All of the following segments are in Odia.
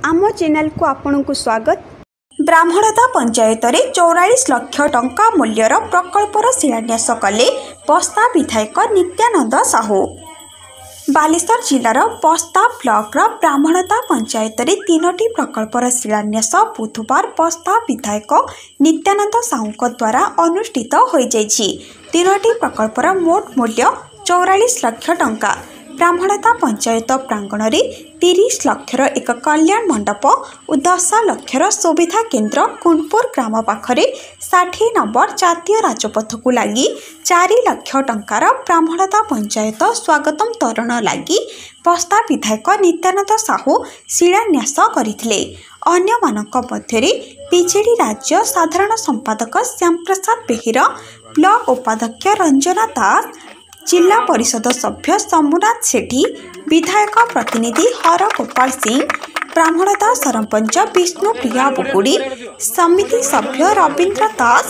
ଆମ ଚ୍ୟାନେଲକୁ ଆପଣଙ୍କୁ ସ୍ୱାଗତ। ବ୍ରାହ୍ମଣଦା ପଞ୍ଚାୟତରେ 44 ଲକ୍ଷ ଟଙ୍କା ମୂଲ୍ୟର ପ୍ରକଳ୍ପର ଶିଳାନ୍ୟାସ କଲେ ବସ୍ତା ବିଧାୟକ ନିତ୍ୟାନନ୍ଦ ସାହୁ। ବାଲେଶ୍ୱର ଜିଲ୍ଲାର ବସ୍ତା ବ୍ଲକର ବ୍ରାହ୍ମଣଦା ପଞ୍ଚାୟତରେ 3ଟି ପ୍ରକଳ୍ପର ଶିଳାନ୍ୟାସ ବୁଧବାର ବସ୍ତା ବିଧାୟକ ନିତ୍ୟାନନ୍ଦ ସାହୁଙ୍କ ଦ୍ୱାରା ଅନୁଷ୍ଠିତ ହୋଇଯାଇଛି। 3ଟି ପ୍ରକଳ୍ପର ମୋଟ ମୂଲ୍ୟ 44 ଲକ୍ଷ ଟଙ୍କା। ବ୍ରାହ୍ମଣଦା ପଞ୍ଚାୟତ ପ୍ରାଙ୍ଗଣରେ 30 ଲକ୍ଷର ଏକ କଲ୍ୟାଣ ମଣ୍ଡପ ଓ 10 ଲକ୍ଷର ସୁବିଧା କେନ୍ଦ୍ର, କୁଣ୍ଡପୁର ଗ୍ରାମ ପାଖରେ 60 ନମ୍ବର ଜାତୀୟ ରାଜପଥକୁ ଲାଗି 4 ଲକ୍ଷ ଟଙ୍କାର ବ୍ରାହ୍ମଣଦା ପଞ୍ଚାୟତ ସ୍ୱାଗତମ ତୋରଣ ଲାଗି ବସ୍ତା ବିଧାୟକ ନିତ୍ୟାନନ୍ଦ ସାହୁ ଶିଳାନ୍ୟାସ କରିଥିଲେ। ଅନ୍ୟମାନଙ୍କ ମଧ୍ୟରେ ବିଜେଡି ରାଜ୍ୟ ସାଧାରଣ ସମ୍ପାଦକ ଶ୍ୟାମପ୍ରସାଦ ବେହେରା, ବ୍ଲକ ଉପାଧ୍ୟକ୍ଷ ରଞ୍ଜନା ଦାସ, ଜିଲ୍ଲା ପରିଷଦ ସଭ୍ୟ ଶମ୍ଭୁନାଥ ସେଠୀ, ବିଧାୟକ ପ୍ରତିନିଧି ହର ଗୋପାଳ ସିଂ, ବ୍ରାହ୍ମଣଦା ସରପଞ୍ଚ ବିଷ୍ଣୁପ୍ରିୟା ବୁଗୁଡ଼ି, ସମିତି ସଭ୍ୟ ରବୀନ୍ଦ୍ର ଦାସ,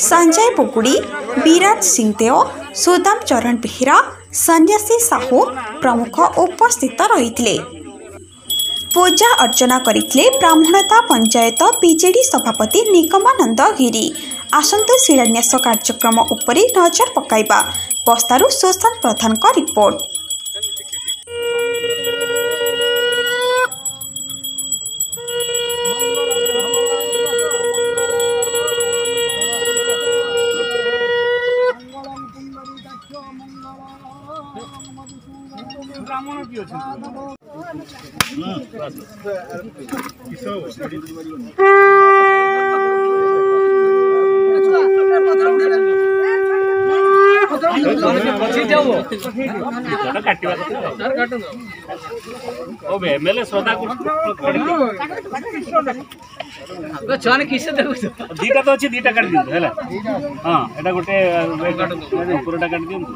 ସଞ୍ଜୟ ବୁଗୁଡ଼ି, ବିରାଜ ସିଂଦେଓ, ସୁଦାମ ଚରଣ ବେହେରା, ସନ୍ନ୍ୟାସୀ ସାହୁ ପ୍ରମୁଖ ଉପସ୍ଥିତ ରହିଥିଲେ। ପୂଜା ଅର୍ଚ୍ଚନା କରିଥିଲେ ବ୍ରାହ୍ମଣଦା ପଞ୍ଚାୟତ ବିଜେଡି ସଭାପତି ନିଗମାନନ୍ଦ ଗିରି। ଆସନ୍ତୁ ଶିଳାନ୍ୟାସ କାର୍ଯ୍ୟକ୍ରମ ଉପରେ ନଜର ପକାଇବା। ବସ୍ତାରୁ ସୁଶାନ୍ତ ପ୍ରଧାନଙ୍କ ରିପୋର୍ଟ। ବ୍ରାହ୍ମଣ କିଏ ଅଛନ୍ତି? କାଟିବା କଥା ଏମଏଲଏ ଶ୍ରଦ୍ଧା। 2ଟା ତ ଅଛି, 2ଟା କାଟି ଦିଅନ୍ତୁ। ହେଲା, ହଁ, ଏଇଟା ଗୋଟେ ଉପରଟା କାଟି ଦିଅନ୍ତୁ।